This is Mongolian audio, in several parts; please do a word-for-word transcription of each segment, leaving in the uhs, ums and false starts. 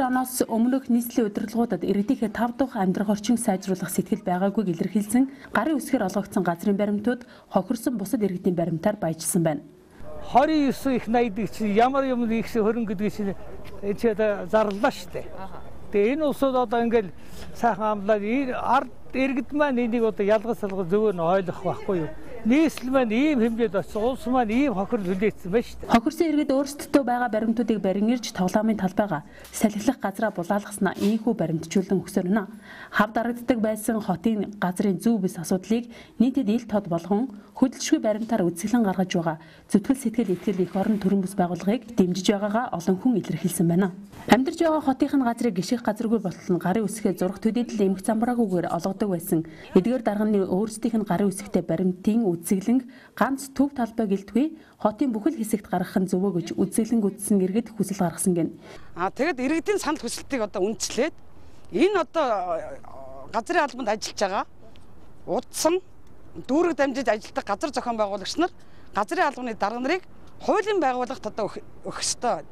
хоёр оноос өмнөх нийслэлийн удирдлагуудад иргэдийнхээ тав дахь амьдрах орчин сайжруулах сэтгэл байгаагүйг илэрхийлсэн гарын үсгээр олгогдсон газрын баримтууд хохирсон бусад иргэдийн баримтаар баяжсан байна. двадцать девять их найддаг чинь ямар юм их хөрөнгө гэдэг чинь энэ ч одоо зарлаа шүү дээ. Тэгээ энэ усууд одоо ингээл сайхан амлаад ард иргэд маань энийг одоо ялгаж салгаж зөвөр нь ойлгох байхгүй юу? Нийслэл маань ийм хэмжээд очсон, улс маань ийм хохирол хүлээсэн байна шүү дээ. Хохирсон иргэд өөрсдөө байгаа баримтуудыг барин ирж тоглоомын талбайгаа салхилах газраа булаалгаснаа ийхүү баримтжуулан өгсөөр нэ. Хав дарагддаг байсан хотын газрын зөв бис асуудлыг нийтэд ил тод болгон хөдөлшгүй баримтаар үзэсгэлэн гаргаж байгаа зүтгэл сэтгэл итгэл их орон төрийн бүс байгууллагыг дэмжиж байгаагаа олон хүн илэрхийлсэн байна. Амьдарч байгаа хотынхын газрыг гიშих газаргүй болтол нь гарын үсгээ зурх төдийдл эмх замбраагүйгээр олгодог байсан. Эдгээр дарганы өөрсдийнх нь гарын үсгтэй баримтын үзэсгэлэнг ганц төв талбай гэлтгүй хотын бүхэл хэсэгт гаргах нь зөвөө гэж үзэсгэлэнг үзсэн иргэд хүсэл гаргасан гэн. Аа тэгэд иргэдийн санал хүсэлтийг одоо үндэслээд энэ одоо газрын албанд ажиллаж байгаа удсан дүүрэг дамжиж ажилладаг газар зохион байгуулагч нар газрын албаны дарга нарыг хуулийн байгууллагт одоо өгөх ёстой.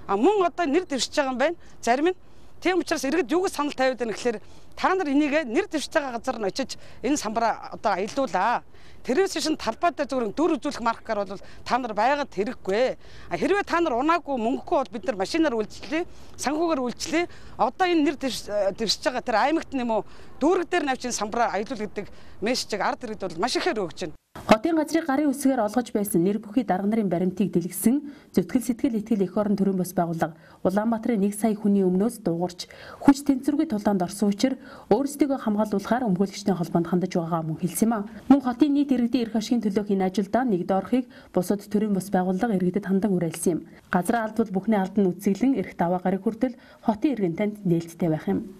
А мөн одоо нэр дэвшиж байгаа юм байна. Зарим нь тийм учраас иргэд юу гэж санал тавиад байна гэхээр та нар энийг нэр дэвшиж байгаа газар нь очиж энэ самбараа одоо аялуулаа. Тэрээс шин талбай дээр зөвхөн дүр үзүүлэх маркаар бол та нар байгаад хэрэггүй. Хэрвээ та нар унаагүй мөнгөгүй бол бид нар машинаар үйлчлээ, санхүүгээр үйлчлээ. Одоо энэ нэр дэвшиж байгаа тэр аймагт нэм үү дүүрэг дээр навчин самбараа аялуул гэдэг мессежийг ард иргэд бол маш ихээр өгч байна. Хотын газрыг гарын үсгээр олгож байсан нэр бүхий дарга нарын баримтыг дэлгэсэн зүтгэл сэтгэл итгэл их орон төрийн бас байгууллага Улаанбаатарын нэг сая хүний өмнөөс дуугарч хүч тэнцвэргүй тулаанд орсон учраас өөрсдийгөө хамгаалуулахаар өмгөөлөгчтэй холбоонд хандаж байгаагаа мөн хэлсэн юм. Мөн хотын нийт иргэдийн эрх ашигын төлөөх энэ ажилдаа нэгд орохыг бусад төрийн бас байгууллага иргэдэд хандан уриалсан юм. Газраа алдвал бүхний алд нь үзэглэн эрх даваа гараг хүртэл хотын иргэн танд нээлттэй байх юм.